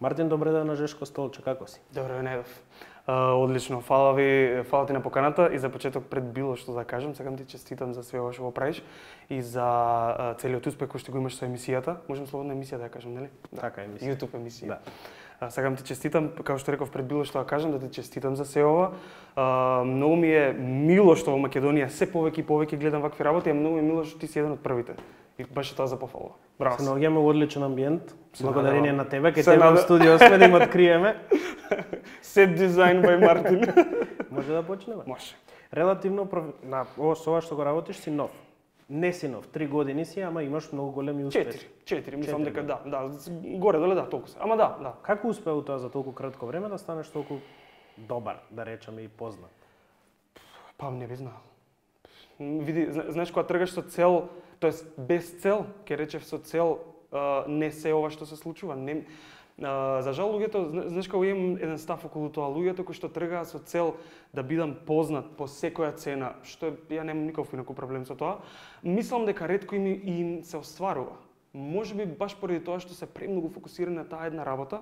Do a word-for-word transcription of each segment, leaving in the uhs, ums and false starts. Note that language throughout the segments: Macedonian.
Мартин, добре ден на Жешко столче, како си? Добре, Недов. Uh, одлично, фала ви, фала ти на поканата и за почеток пред било што да кажам, сакам ти честитам за све ова што го правиш и за uh, целиот успех кој што го имаш со емисијата. Можем слободно емисија да ја кажам, нели? Да. Така емисија. YouTube емисија. Да. Uh, сакам ти честитам, како што реков пред било што да кажам, да ти честитам за се ова. Uh, многу ми е мило што во Македонија се повеќе и повеќе гледам вакви работи, а многу ми е мило што ти си еден од првите. И баш тоа за пофалува. Браво. Се наоѓаме во одличен амбиент. Се Благодарение надевам. на тебе, кај Се тебе во надевам. студио сме да им откриеме. Set design by Мартин. Може да почнеме? Може. Релативно проф... на ово со ова што го работиш си нов. Не си нов, три години си, ама имаш многу големи успеси. Четири. Четири, мислам Четири. дека да, да, горе доле да, толку се. Ама да, да. Како успеа тоа за толку кратко време да станеш толку добар, да речеме и познат? Па не би знаел. Види, знаеш кога тргаш со цел, тоест без цел, ќе речев со цел, а, не се ова што се случува. Не, а, за жал луѓето, знаеш кога имам еден став околу тоа, луѓето кои што тргаат со цел да бидам познат по секоја цена, што ја немам никаков инаку проблем со тоа, мислам дека ретко им, им се остварува. Можеби баш поради тоа што се премногу фокусирани на таа една работа,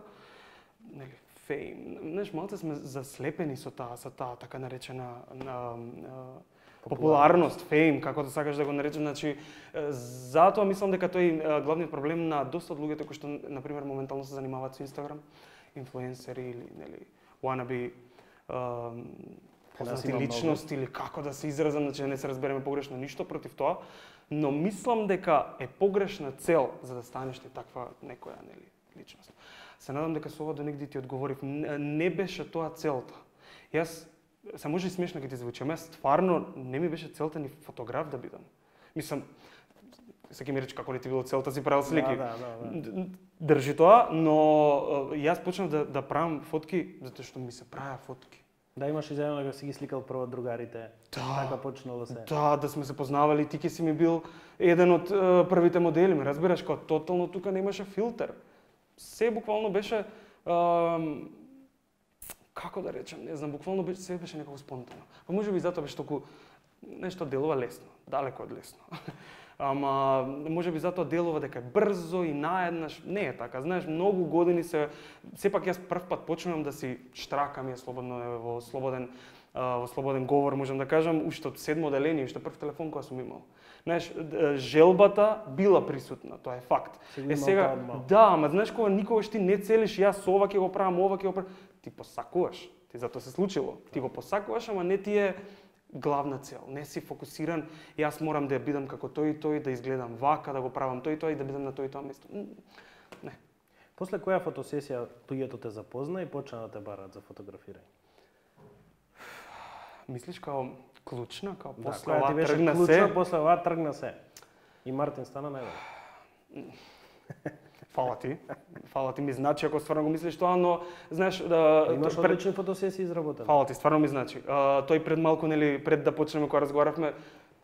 нели, фейм. Знаеш, малце сме заслепени со таа, со таа така наречена на, на, популарност, фейм, како да сакаш да го наречем, значи затоа мислам дека тој е главниот проблем на доста од луѓето кои што на пример моментално се занимаваат со Инстаграм, инфлуенсери или нели wannabe познати личности или како да се изразам, значи не се разбереме погрешно ништо против тоа, но мислам дека е погрешна цел за да станеш ти таква некоја нели личност. Се надам дека со ова до негде ти одговорив. Не беше тоа целта. Јас се може и смешно ќе ти звучи, ама стварно не ми беше целта ни фотограф да бидам. Мислам, секој ми рече како не ти било целта, си правил слики. Да, да, да. Држи тоа, но јас почнав да, да правам фотки затоа што ми се правеа фотки. Да, имаш изјавено дека си ги сликал прво од другарите. Да. Така почнало се. Да, да сме се познавали, ти ке си ми бил еден од uh, првите модели, ме разбираш, кога тотално тука немаше филтер. Се буквално беше uh, како да речем, не знам, буквално беше, се беше некако спонтано. Па може би затоа беше толку нешто делува лесно, далеко од лесно. Ама може би затоа делува дека е брзо и наеднаш, не е така. Знаеш, многу години се сепак јас прв пат почнувам да си штракам ја слободно во слободен во слободен говор, можам да кажам, уште од седмо оделение, уште прв телефон кој сум имал. Знаеш, желбата била присутна, тоа е факт. Е сега, да, ама знаеш кога никогаш ти не целиш, јас ова ќе го правам, ова ќе го правам, ти посакуваш, ти затоа се случило. Ти го посакуваш, ама не ти е главна цел. Не си фокусиран, јас морам да бидам како тој и тој, да изгледам вака, да го правам тој и тој и да бидам на тој и тоа место. Не. После која фотосесија луѓето те запозна и почна да те бараат за фотографирање? Мислиш као клучна, као Да, после која ова ти беше тргна клучна, се? после ова тргна се. И Мартин стана најдобар. Фала ти. Фала ти ми значи ако стварно го мислиш тоа, но знаеш да Имаш пред... одлични фотосесии изработени. Фала ти, стварно ми значи. А, тој пред малку нели пред да почнеме кога разговаравме,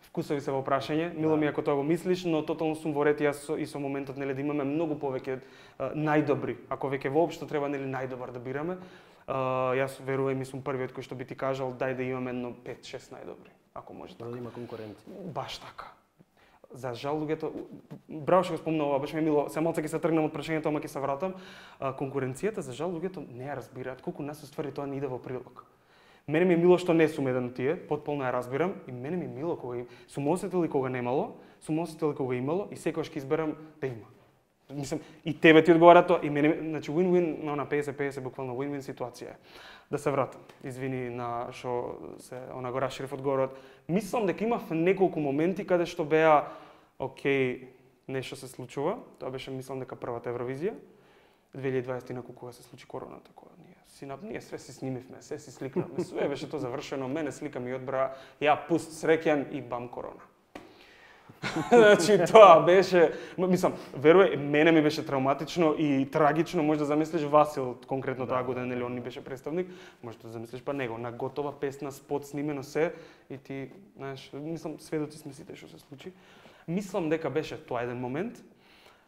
вкусови се во прашање. Мило Да. ми е ако тоа го мислиш, но тотално сум во ред и јас со, и со моментот нели да имаме многу повеќе а, најдобри. Ако веќе воопшто треба нели најдобар да бираме, а, јас верувам и сум првиот кој што би ти кажал дај да имаме едно пет-шест најдобри, ако може така. Да има конкуренција. Баш така. За жал луѓето, браво што го спомна ова, баш ми е мило, се малце ќе се тргнам од прашањето, ама ќе се вратам. А, конкуренцијата, за жал луѓето не ја разбираат колку нас уствари тоа не иде во прилог. Мене ми е мило што не сум еден од тие, потполно ја разбирам и мене ми е мило кога сум осетил и кога немало, сум осетил и кога имало и секогаш ќе изберам да има. Мислам, и тебе ти одговара тоа, и мене, значи win-win, на она песет песет, буквално win-win ситуација. Да се вратам, извини на што се она го расширив одговорот. Мислам дека имав неколку моменти каде што беа окей, нешто се случува. Тоа беше мислам дека првата Евровизија. две илјади и дваесета кога се случи короната, кога ние си на ние све си снимивме, све си сликнавме, све беше тоа завршено, мене слика ми одбра, ја пуст среќен и бам корона. Значи тоа беше, мислам, верувај, мене ми беше травматично и трагично, може да замислиш Васил конкретно таа година, нели он ни беше представник, може да замислиш па него на готова песна, спот снимено се и ти, знаеш, мислам сведоци сме сите што се случи. Мислам дека беше тоа еден момент.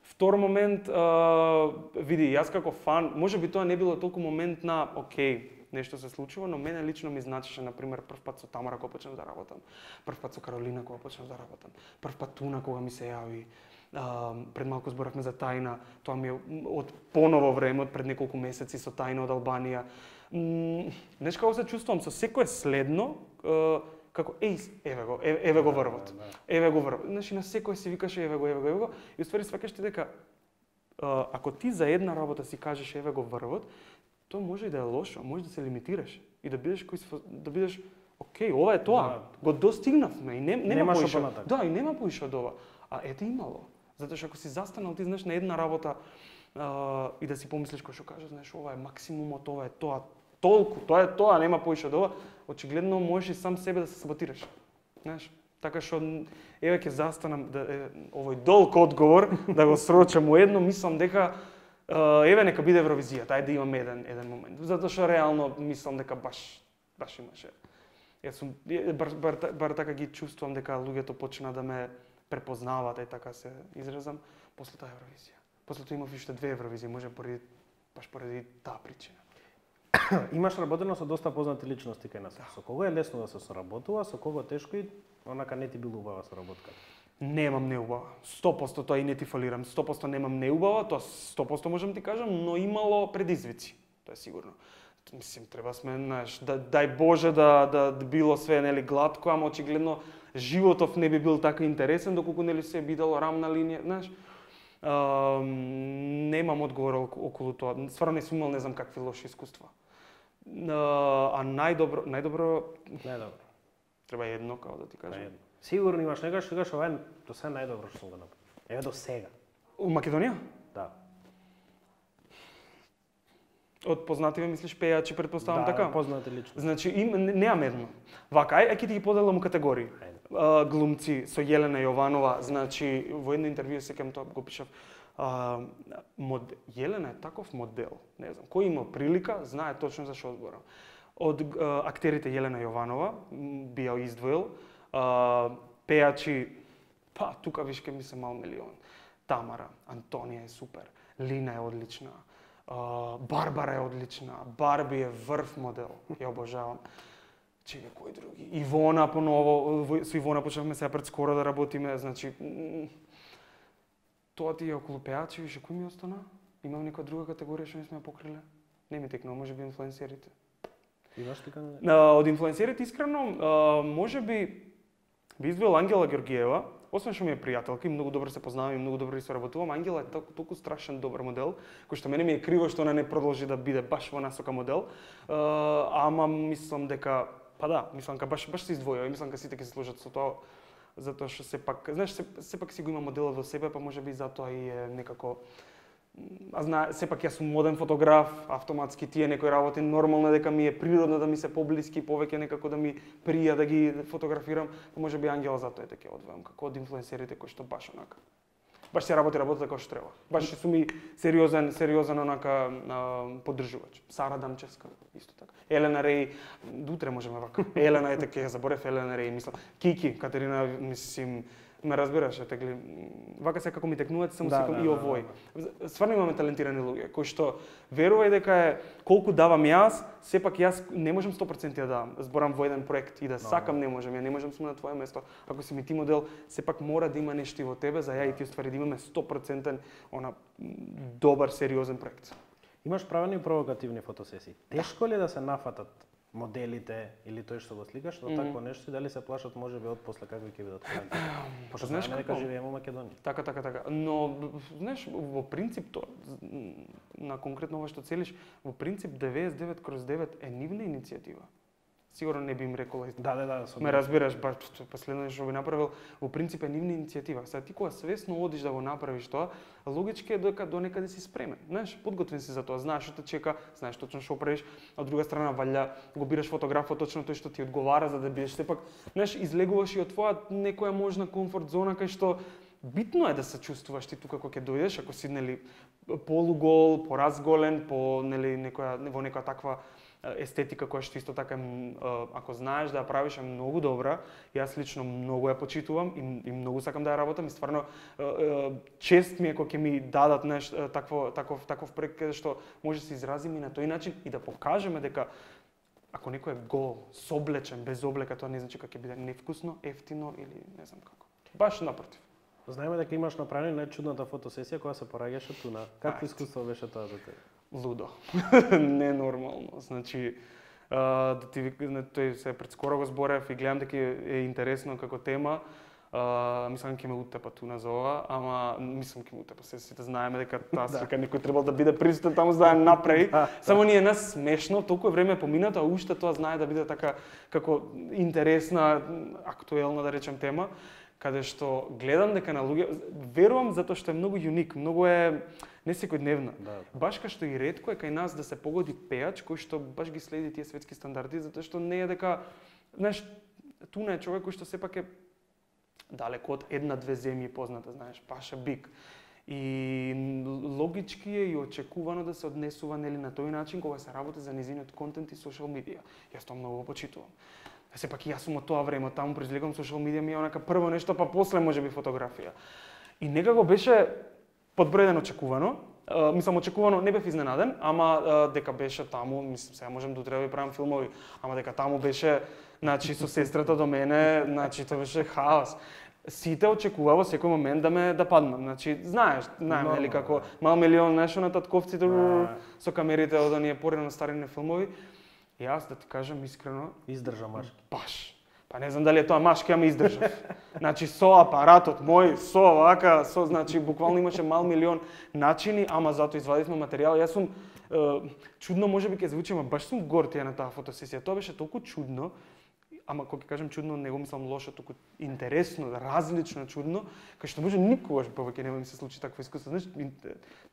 Втор момент, а, види, јас како фан, може би тоа не било толку момент на окей, нешто се случува, но мене лично ми значеше, например, прв пат со Тамара кога почнав да работам, прв пат со Каролина кога почнав да работам, прв пат Туна кога ми се јави, А, пред малку зборавме за Тајна, тоа ми е од поново време, од пред неколку месеци со Тајна од Албанија. М, Знаеш како се чувствувам со секое следно, а, како еј, еве го, еве, еве го врвот. Еве го врвот. Значи на секој си викаш еве го, еве го, еве го, и уствари сваќаш ти дека а, ако ти за една работа си кажеш еве го врвот, тоа може и да е лошо, може да се лимитираш и да бидеш кој си, да бидеш окей, ова е тоа. Да. Го достигнавме и не, нема поише. Да, и нема поише од ова. А ете имало. Затоа што ако си застанал ти знаеш на една работа а, и да си помислиш кој што кажеш, знаеш ова е максимумот, ова е тоа, толку, тоа е тоа, нема поише од ова, очигледно можеш и сам себе да се саботираш. Знаеш, така што еве ќе застанам да е, овој долг одговор да го срочам уедно, мислам дека а, еве нека биде Евровизијата, ајде да имаме еден еден момент. Затоа што реално мислам дека баш баш имаше. Јас сум бар, бар, бар така ги чувствувам дека луѓето почна да ме препознаваат, и така се изразам, после таа Евровизија. После тоа имав уште две Евровизии, може поради баш поради таа причина. Имаш работено со доста познати личности кај нас. Со кого е лесно да се соработува, со кого тешко и онака не ти било убава соработка? Немам неубава. сто проценти тоа и не ти фалирам. сто проценти немам неубава, тоа сто проценти можам ти кажам, но имало предизвици. Тоа е сигурно. Мислим, треба сме, знаеш, да, дај Боже да, да, да било све нели глатко, ама очигледно животов не би бил така интересен доколку нели се бидало рамна линија, знаеш. А, немам одговор околу тоа. Стварно не сум имал не знам какви лоши искуства. А, а најдобро, најдобро Најдобро. Треба едно, како да ти кажам. Едно. Сигурно имаш некој што кажеш ова е до сега најдобро што сум го направил. Еве до сега. У Македонија? Да. Од познативе мислиш пејачи, предпоставам да, така? Да, познати личности. Значи им немам едно. Вака, ај ќе ти ги поделам у категории. А, глумци со Јелена Јованова, значи во едно интервју секам тоа го пишав. А, мод... Јелена е таков модел, не знам, кој има прилика, знае точно за што зборам. Од а, актерите Јелена Јованова би ја издвоил, а, пејачи, па тука виш ке ми се мал милион. Тамара, Антонија е супер, Лина е одлична. Uh, Барбара е одлична, Барби е врв модел, ја обожавам. Чеки, кој други? Ивона поново, со Ивона почнавме сега пред скоро да работиме, значи тоа ти е околу пејачи, више кој ми остана? Имам некоја друга категорија што не сме ја покриле? Не ми текнува, може би инфлуенсерите. Имаш така? Uh, од инфлуенсерите искрено, uh, може би би издвоил Ангела Георгиева. Освен што ми е пријателка и многу добро се познавам и многу добро и соработувам, Ангела е толку, толку страшен добар модел, кој што мене ми е криво што она не продолжи да биде баш во насока модел. Uh, ама мислам дека, па да, мислам дека баш баш се издвојува и мислам дека сите ќе се сложат со тоа, затоа што сепак, знаеш, сепак си го има моделот во себе, па можеби затоа и е некако. А знае, сепак јас сум моден фотограф, автоматски тие некои работи нормално дека ми е природно да ми се поблиски, повеќе некако да ми прија да ги фотографирам, па можеби Ангела затоа е дека одвојам како од инфлуенсерите кои што баш онака. Баш се работи работата како што треба. Баш сум и сериозен, сериозен онака а, поддржувач. Сара Дамчевска исто така. Елена Реј, утре можеме вака. Елена е така, ја заборев Елена Реј, мислам. Кики, Катерина, мислим, ме разбираш, тегли. Вака се како ми текнуваат, само да, секам да, и овој. Да, да. Стварно имаме талентирани луѓе кои што верувај дека е колку давам јас, сепак јас не можам сто проценти да давам. Зборам во еден проект и да no, сакам не можам, ја не можам сум на твое место. Ако си ми ти модел, сепак мора да има нешто во тебе за ја и ти уствари да имаме сто проценти она добар сериозен проект. Имаш правени провокативни фотосесии. Тешко ли е да се нафатат моделите или тој што го сликаш, но mm -hmm. такво нешто и дали се плашат можеби од после како ќе бидат коментари? Пошто знаеш дека живееме во Македонија. Така, така, така. Но знаеш, во принцип тоа на конкретно ова што целиш, во принцип деветдесет и девет кроз девет е нивна иницијатива. Сигурно не би им рекола. Да, да, да. Ме разбираш, баш последно што би направил, во принцип е нивна иницијатива. Сега ти кога свесно одиш да го направиш тоа, логички е дека до некаде си спремен. Знаеш, подготвен си за тоа, знаеш што те чека, знаеш точно што правиш. Од друга страна, валја го бираш фотографот точно тој што ти одговара за да бидеш сепак, знаеш, излегуваш и од твоја некоја можна комфорт зона кај што битно е да се чувствуваш ти тука кога ќе дојдеш, ако си нели полугол, поразголен, по нели некоја во некоја таква естетика која што исто така ако знаеш да ја правиш е многу добра. Јас лично многу ја почитувам и, и многу сакам да ја работам и стварно чест ми е кога ќе ми дадат нешто такво таков таков проект каде што може да се изразиме на тој начин и да покажеме дека ако некој е гол, соблечен, без облека, тоа не значи дека ќе биде невкусно, ефтино или не знам како. Баш напротив. Знаеме дека имаш направено најчудната фотосесија која се пораѓаше туна. Какво искуство беше тоа за тебе? Лудо. Ненормално. Значи, а, да ти тој се пред скоро го зборев и гледам дека е интересно како тема. Uh, мислам ќе ме утепа туна за ова, ама мислам ќе ме утепа. Се сите знаеме дека таа слика некој требал да биде присутен таму за да ја направи. Само ни е нас смешно, толку време поминато, а уште тоа знае да биде така како интересна, актуелна да речем тема, каде што гледам дека на луѓе верувам затоа што е многу юник, многу е не секојдневна. Да. Баш кај што и ретко е кај нас да се погоди пејач кој што баш ги следи тие светски стандарди, затоа што не е дека, знаеш, туна е човек кој што сепак е далеко од една-две земји позната, знаеш, Паша Бик. И логички е и очекувано да се однесува нели на тој начин кога се работи за низиниот контент и социјал медија. Јас тоа многу почитувам. Сепак и јас сум од тоа време, таму произлегувам социјал медија ми е онака прво нешто, па после можеби фотографија. И некако беше под број еден очекувано. Uh, мислам, очекувано, не бев изненаден, ама uh, дека беше таму, мислам, сега можем да утре да правам филмови, ама дека таму беше, значи, со сестрата до мене, значи, тоа беше хаос. Сите очекува во секој момент да ме да паднам, значи, знаеш, знаеме, нели, како мал милион нешто на татковците со камерите од оние порано старини филмови. И јас, да ти кажам искрено, издржа машки. Баш. Па не знам дали е тоа машки, ама издржав. Значи со апаратот мој, со вака, со, значи буквално имаше мал милион начини, ама затоа извадивме материјал. Јас сум е, чудно можеби ќе звучи, ама баш сум горд ја на таа фотосесија. Тоа беше толку чудно, ама кога ќе кажам чудно, не го мислам лошо, туку интересно, различно чудно, кај што може никогаш повеќе нема ми се случи такво искуство. Знаеш,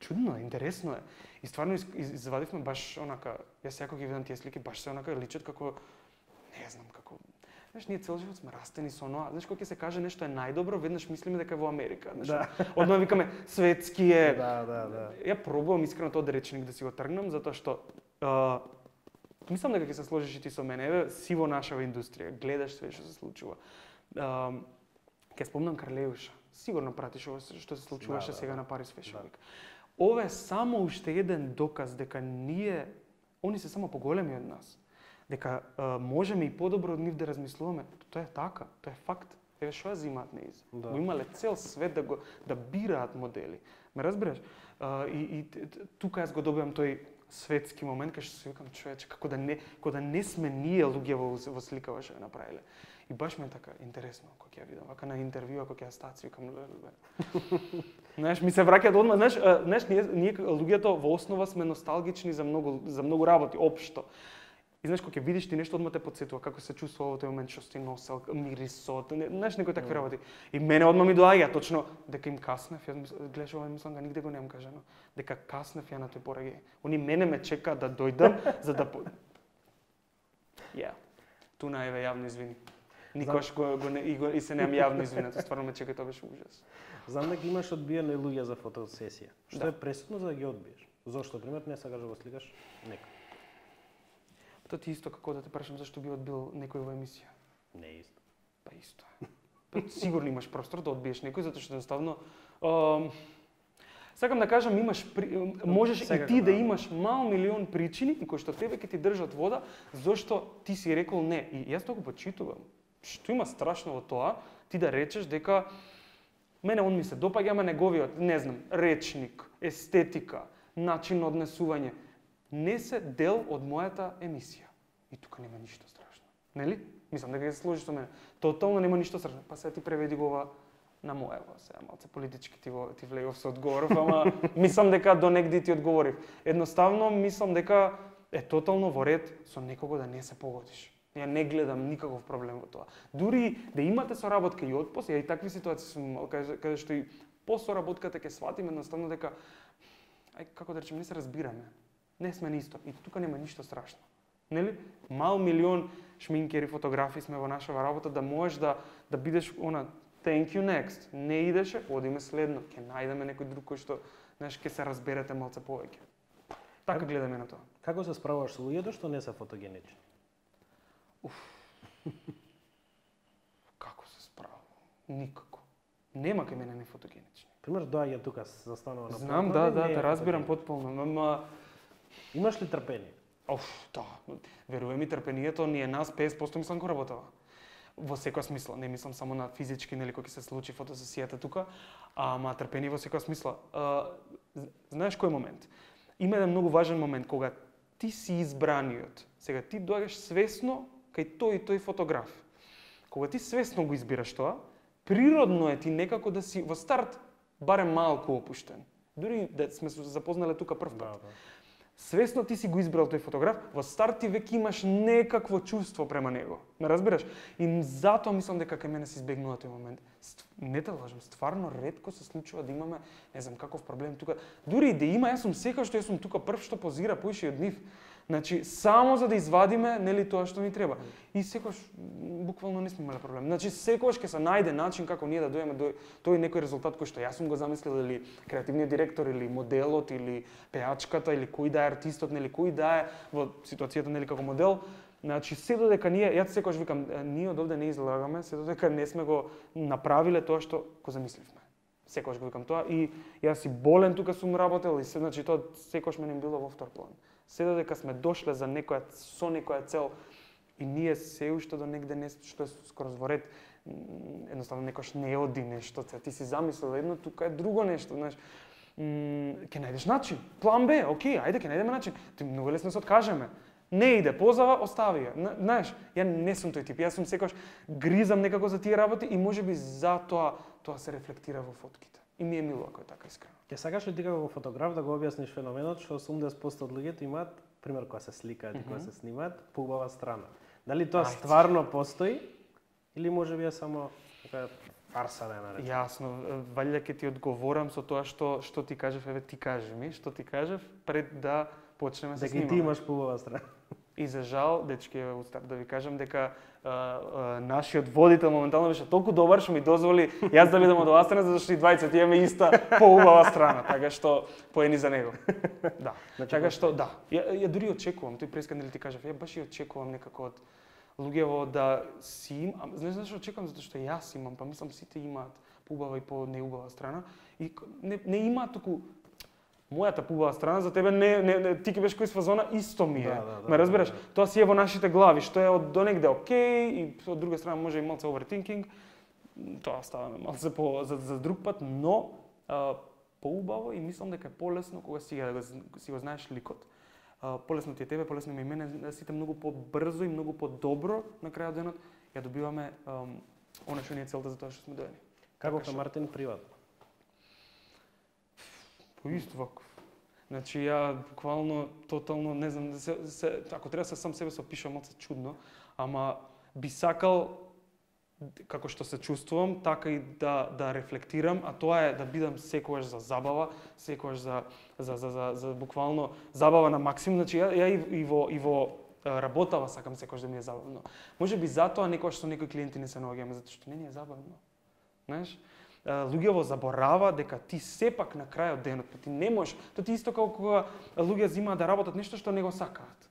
чудно е, интересно е. И стварно извадивме баш онака, јас секој ги видам тие слики, баш се онака личат како, не знам, како знаеш, ние цел живот сме растени со оноа. Знаеш, кога ќе се каже нешто е најдобро, веднаш мислиме дека е во Америка. Знаеш, да. Одма викаме светски е. Да, да, да. Ја пробувам искрено тоа речник да си го тргнам, затоа што а, мислам дека ќе се сложиш и ти со мене. Еве, си во нашава индустрија, гледаш све што се случува. А, ќе спомнам Карлеуша. Сигурно пратиш ова што се случуваше да, да, сега да. На Парис Fashion Week. Да. Ова е само уште еден доказ дека ние, они се само поголеми од нас. Дека а, можеме и подобро од нив да размислуваме. Тоа е така, тоа е факт. Еве што ја зимаат неиз. Да. Го имале цел свет да го да бираат модели. Ме разбираш? А, и, и тука јас го добивам тој светски момент кај што се викам човече како да не како да не сме ние луѓе во, во сликава што ја направиле. И баш ме е така интересно кога ќе ја видам, вака на интервју кога ќе ја стаци викам. Знаеш, ми се враќаат одма, знаеш, знаеш ние ние луѓето во основа сме носталгични за многу за многу работи општо. И знаеш, кога ќе видиш ти нешто, одма те потсетува како се чувствува во тој момент што си носел, мирисот, не, знаеш, некои такви работи. И мене одма ми доаѓа точно дека им каснев, јас гледаш ова, мислам га нигде го немам кажано, дека каснев ја на тој пораѓај. Они мене ме чекаат да дојдам за да Ја. Yeah. Туна еве јавно извини. Никош го, го, не, и, го и се немам јавно извинето, стварно ме чека, тоа беше ужас. Знам дека имаш одбиени луѓе за фотосесија. Што да. Е пресудно за да ги одбиеш? Зошто пример не сакаш да го сликаш некој? Тоа ти исто како да те прашам зашто би одбил некој во емисија. Не е исто. Па исто е. Па сигурно имаш простор да одбиеш некој затоа што едноставно ам, сакам да кажам имаш при, можеш Сега, и ти да, да имаш мал милион причини кои што тебе ќе ти држат вода зашто ти си рекол не. И јас тоа го почитувам. Што има страшно во тоа ти да речеш дека мене он ми се допаѓа, ама неговиот, не знам, речник, естетика, начин на однесување не се дел од мојата емисија. И тука нема ништо страшно. Нели? Мислам дека ќе се сложиш со мене. Тотално нема ништо страшно. Па сега ти преведи го ова на моево, сега малце политички ти го ти влегов со одговоров, ама мислам дека до негде ти одговорив. Едноставно мислам дека е тотално во ред со некого да не се погодиш. Ја не гледам никаков проблем во тоа. Дури да имате соработка и отпос, ја и такви ситуации сум каде, каде што и по соработката ќе сватиме едноставно дека ај како да речем не се разбираме. Не сме нисто и тука нема ништо страшно. Нели? Мал милион шминкери, фотографи сме во нашава работа да можеш да да бидеш она thank you next. Не идеше, одиме следно, ќе најдеме некој друг кој што знаеш ќе се разберете малце повеќе. Така гледаме на тоа. Како се справуваш со луѓето што не се фотогенични? Уф. Како се справувам? Никако. Нема кај мене не фотогенични. Пример доаѓа тука застанува на Знам, да, да, те разбирам потполно, ама имаш ли трпение? Оф, да. Верувам ми трпението ни е нас петдесет проценти мислам го работава. во секој смисла, не мислам само на физички, нели кога ќе се случи фотосесијата тука, ама трпение во секој смисла. Знаеш кој момент? Има еден многу важен момент кога ти си избраниот. Сега ти доаѓаш свесно кај тој и тој фотограф. Кога ти свесно го избираш тоа, природно е ти некако да си во старт барем малку опуштен. Дури да сме се запознале тука прв пат. Да, да. Свесно ти си го избрал тој фотограф, во старт ти веќе имаш некакво чувство према него. Ме разбираш? И затоа мислам дека кај мене се избегнува тој момент. Не те лажам, стварно ретко се случува да имаме, не знам каков проблем тука. Дури и да има, јас сум секој што јас сум тука прв што позира поише од нив. Значи, само за да извадиме, нели, тоа што ни треба. И секогаш буквално не сме имале проблем. Значи, секогаш ќе се најде начин како ние да дојдеме до тој некој резултат кој што јас сум го замислил, или креативниот директор, или моделот, или пеачката, или кој да е артистот, нели, кој да е во ситуацијата, нели, како модел. Значи, се додека ние, јас секогаш викам, ние од овде не излагаме, се додека не сме го направиле тоа што го замисливме. Секогаш го викам тоа и јас си болен тука сум работел и се, значи тоа секогаш мене било во втор план. Се додека сме дошле за некоја со некоја цел и ние се уште до негде не што е скоро во ред, едноставно некош не оди нешто, ти си замислил едно, тука е друго нешто, знаеш. Ќе најдеш начин. План Б, окей, ајде ќе најдеме начин. Ти многу лесно се откажеме. Не иде, позава, остави ја. Знаеш, ја не сум тој тип. Јас сум секогаш гризам некако за тие работи и можеби затоа тоа се рефлектира во фотките. И ми е мило ако е така искрено. Ќе сакаш ли ти како фотограф да го објасниш феноменот што осумдесет проценти од луѓето имаат, пример кога се сликаат и кога се снимаат, поубава страна. Дали тоа стварно постои или можеби е само така фарса да ја наречем? Јасно, валјда ќе ти одговорам со тоа што што ти кажев, еве ти кажи ми, што ти кажев пред да почнеме се снимаме. Дека ти имаш поубава страна. И за жал, дечки, устап да ви кажам дека а, а, нашиот водител моментално беше толку добар што ми дозволи јас да бидам од оваа страна, зашто и двајцата имаме иста поубава страна, така што поени за него. Да. Значи, така што да, ја, ја дури очекувам, тој преска нели ти кажав, ја баш и очекувам некако од луѓево да си им, а, знаеш зашто очекувам, затоа што јас имам, па мислам сите имаат поубава и по неубава страна и не, не имаат туку мојата поубава страна, за тебе не, не, не ти ќе беше кој фазона исто ми е. Да, да, да, ме разбираш? да, да. Тоа си е во нашите глави, што е од донегде окей и од друга страна може и малце overthinking. Тоа ставаме малце по за, за друг пат, но а, поубаво и мислам дека е полесно кога си да го, си го знаеш ликот. А, полесно ти е тебе, полесно ми е мене, сите многу побрзо и многу подобро на крајот денот ја добиваме ам, она што ни е целта за тоа што сме доени. Како е Мартин приватно? По ист ваков. Значи ја буквално тотално не знам, се, се, ако треба се сам себе се опишам малку чудно, ама би сакал како што се чувствувам, така и да да рефлектирам, а тоа е да бидам секогаш за забава, секогаш за за за за, за буквално забава на максимум. Значи ја, ја и, и во и во работава сакам секогаш да ми е забавно. Можеби затоа некогаш со некои клиенти не се наоѓаме затоа што не ни е забавно. Знаеш? Луѓето заборава дека ти сепак на крајот денот, ти не можеш, тоа ти исто како кога луѓе земаат да работат нешто што не го сакаат.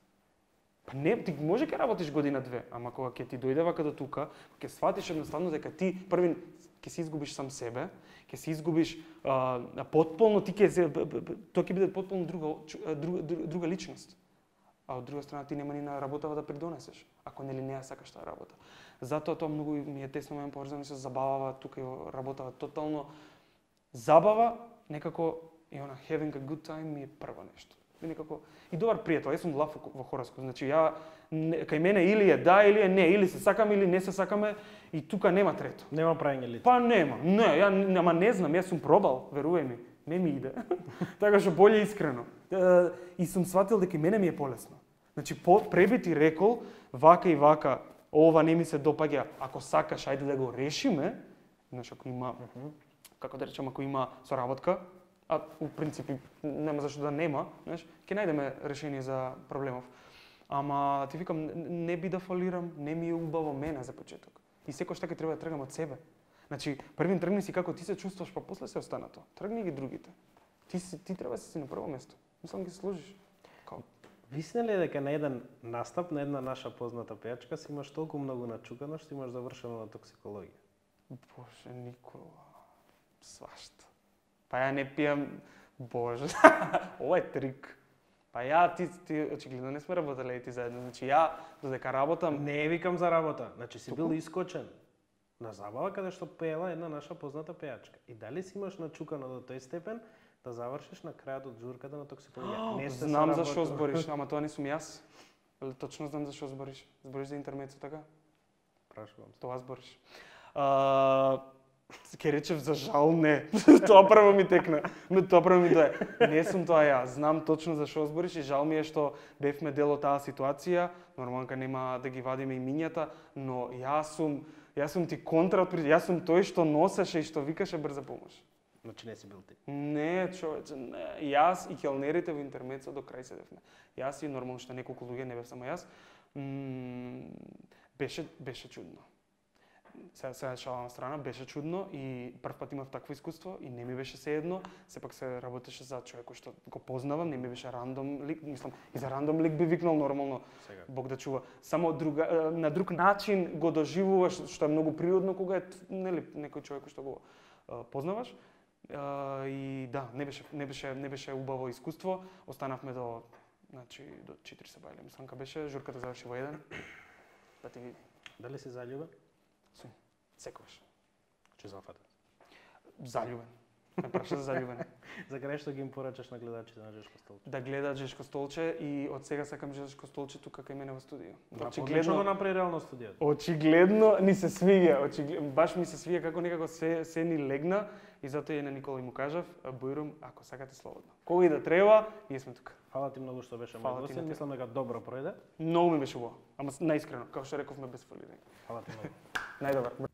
Па не, ти може ќе работиш година две, ама кога ќе ти дојде вака до тука, ќе сватиш едноставно дека ти првин ќе се изгубиш сам себе, ќе се изгубиш а, потполно, ти ќе тоа ќе биде потполно друга друга друга личност. А од друга страна ти нема ни на работава да придонесеш, ако нели не ја сакаш таа работа. Затоа тоа многу ми е тесно ме поврзано со забавава, тука и работава тотално забава, некако и она having a good time ми е прво нешто. И некако и добар пријател, јас сум лав во хороскоп, значи ја кај мене или е да или е не, или се сакаме или не се сакаме и тука нема трето. Нема праење лице. Па нема. Не, ја нема не знам, јас сум пробал, верувај ми, не ми иде. Така што боле искрено. И сум сватил дека и мене ми е полесно. Значи преби ти рекол вака и вака, ова не ми се допаѓа, ако сакаш ајде да го решиме, значи ако има, како да речем, ако има соработка, а у принципи нема зашто да нема, знаеш, ќе најдеме решение за проблемов. Ама ти викам не би да фалирам, не ми е убаво мене за почеток. И секој што ќе треба да тргам од себе. Значи, првин тргни си како ти се чувствуваш, па после се останато. Тргни ги другите. Ти си ти треба да си на прво место. Мислам ги се сложиш. Као Висне ли дека на еден настап на една наша позната пејачка си имаш толку многу начукано што имаш завршено на токсикологија? Боже, Никола. Свашта. Па ја не пијам, боже. Ова е трик. Па ја, ти, ти очигледно не сме работеле и ти заедно. Значи ја, додека работам... Не викам за работа, значи си бил искочен на забава каде што пеела една наша позната пејачка. И дали си имаш начукано до тој степен да завршиш на крајот од журката на токсикологија? Не сте знам за што збориш, ама тоа не сум јас. Точно знам за што збориш. Збориш за интермецо, така? Прашувам се. Тоа збориш. А, ке речев за жал не. Тоа прво ми текна. Тоа прво ми дое. Не сум тоа ја. Знам точно за што збориш и жал ми е што бевме дел од таа ситуација. Нормално нема да ги вадиме имињата, но јас сум јас сум ти контра од јас сум тој што носеше и што викаше брза помош. Значи не си бил ти. Не, човече, не. Јас и келнерите во интермецо до крај седевме. Јас и нормално што неколку луѓе, не бев само јас. М беше беше чудно. Сега сега шала на страна, беше чудно и прв пат имав такво искуство и не ми беше сеедно, сепак се работеше за човек кој што го познавам, не ми беше рандом лик, мислам, и за рандом лик би викнал нормално. Сега. Бог да чува. Само друга на друг начин го доживуваш, што е многу природно кога е нели некој човек кој што го а, познаваш. А, и да, не беше не беше не беше убаво искуство. Останавме до значи до четири се бајле. Мислам ка беше журката заврши во еден. Да ти види. Дали си заљубен? Сум. Секогаш. Че зафатен. Заљубен. Ме праша за заљубен. За крај што ги им порачаш на гледачите на Жешко столче? Да гледаат Жешко столче и од сега сакам Жешко столче тука кај мене во студио. Очигледно го направи реално студиото. Очигледно ни се свиѓа, очигледно баш ми се свиѓа како некако се се ни легна и затоа и на Никола му кажав, Бојрум, ако сакате слободно. Кога и да треба, ние сме тука. Фала ти многу што беше мој гостин, мислам дека добро пројде. Многу ми беше убаво, ама наискрено, како што рековме без фалирање. Фала ти многу. Најдобар.